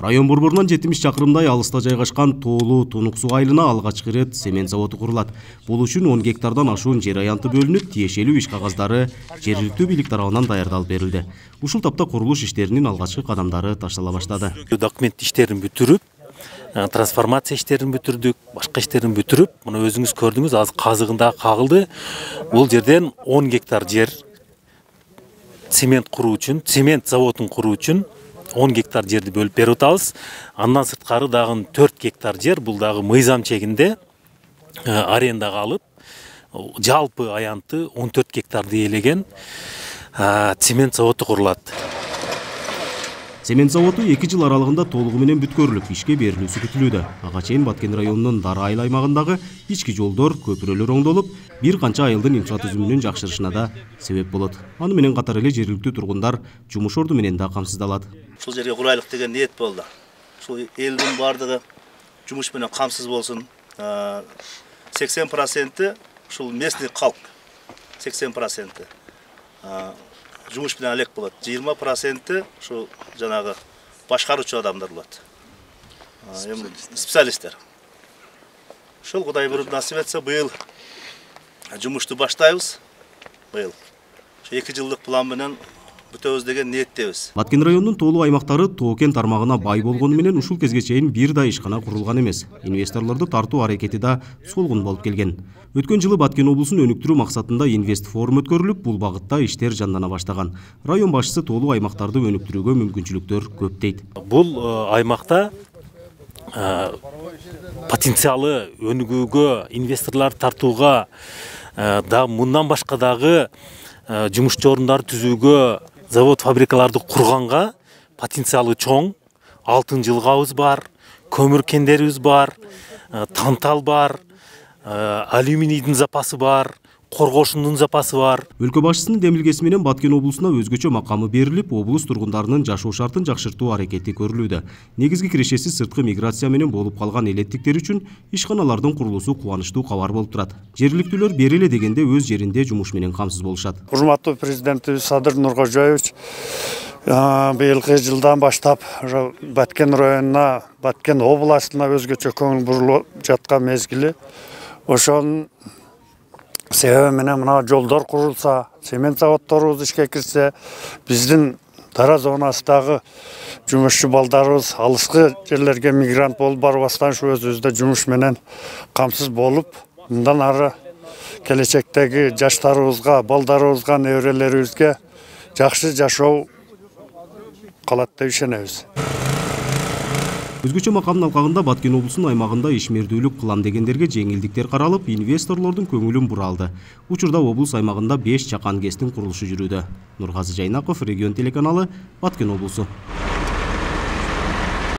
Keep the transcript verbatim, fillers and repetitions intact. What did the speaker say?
Район борборунан жетимиш чакырымдай алыста жайгашкан Тоолуу Тунук суу айылына алгачкы ирет цемент заводу курулат. Бул үчүн он гектардан ашуун жер аянты бөлүнүп, тиешелүү иш кагаздары жергиликтүү бийлик тарабынан даярдалып берилди. Ушул тапта курулуш иштеринин алгачкы кадамдары таштала баштады. Документ иштерин бүтүрүп, трансформация иштерин бүтүрдүк, башка иштерин бүтүрүп, мына өзүңүз көрдүңүз, азыр казыгында кагылды. Бул жерден он гектар жер цемент куруу үчүн, цемент заводун куруу үчүн он гектар жерди бөлүп берип атабыз. Андан сырткары дагы төрт гектар жер, бул дагы мыйзам чегинде арендага алып, жалпы аянты он төрт гектарды ээлеген цемент заводу курулат. Цемент заводу эки жыл аралыгында толугу менен бүткөрүлүп, ишке берилүүсү күтүлүүдө. Ага чейин Баткен районунун Дара айыл аймагындагы ички жолдор, көпүрөлөр оңдолуп, бир канча айылдын инфратүзүмүнүн жакшырышына да себеп болот. Аны менен катар эле жергиликтүү тургундар жумуш орду менен да камсыздалат. Ушул жерге курайлык деген ниет болду. Ушул элдин бардыгы жумуш менен камсыз болсун. сексен проценти ушул местный калк, сексен проценти жумуш менен алек болот. жыйырма проценти ушу жанагы башкаруучу адамдар болот. Специалисттер. Ушул Кудай буйруп насип этсе, быйыл жумушту баштайбыз. Быйыл эки жылдык план менен бүтөбүз деген ниеттебиз. Баткен районунун тоолуу аймактары тоо-кен тармагына бай болгону менен ушул кезге чейин бир да ишкана курулган эмес. Инвесторлорду тартуу аракети да солгун болуп келген. Өткөн жылы Баткен облусун өнүктүрүү максатында инвест форум өткөрүлүп, бул багытта иштер жандана баштаган. Район башчысы тоолуу аймактарды өнүктүрүүгө мүмкүнчүлүктөр көп дейт. Бул аймакта потенциалы өнүгүүгө, инвесторлор тартууга, да мындан башка дагы жумушчу орундарды түзүүгө, завод фабрикаларды курганга потенциалы чоң. Алтын жылгабыз бар, көмүр кендерибиз бар, тантал бар, алюминийдин запасы бар, коргошундун запасы бар. Өлкө башчысынын демилгеси менен Баткен облусуна өзгөчө макамы берилип, облус тургундарынын жашоо шартын жакшыртуу аракети көрүлүүдө. Негизги кирешеси сырткы миграция менен болуп калган элеттиктер үчүн ишканалардын курулуусу кубанычтуу кабар болуп турат. Жергиликтүүлөр бери эле дегенде өз жеринде жумуш менен камсыз болушат. Урматтуу президентибиз Садыр Нуркожоевич быйылкы жылдан баштап Баткен районуна, Баткен областына өзгөчө көңүл бурулуп жаткан мезгили. Ошонун себеби менен мына жолдор курулса, цемент заводдорубуз ишке кирсе, биздин Дара зонасындагы жумушчу балдарыбыз алыскы жерлерге мигрант болуп барбастан ушу өзүбүздө жумуш менен камсыз болуп, мындан ары келечектеги жаштарыбызга, балдарыбызга, неберелерибизге жакшы жашоо калат деп ишенебиз. Өзгөчө макамдын алкагында Баткен облусунун аймагында ишмердүүлүк кылам дегендерге жеңилдиктер каралып, инвесторлордун көңүлүн буралды. Учурда облус аймагында беш чакан гэстин курулушу жүрүүдө. Нургазы Жайнаков, Регион телеканалы, Баткен облусу.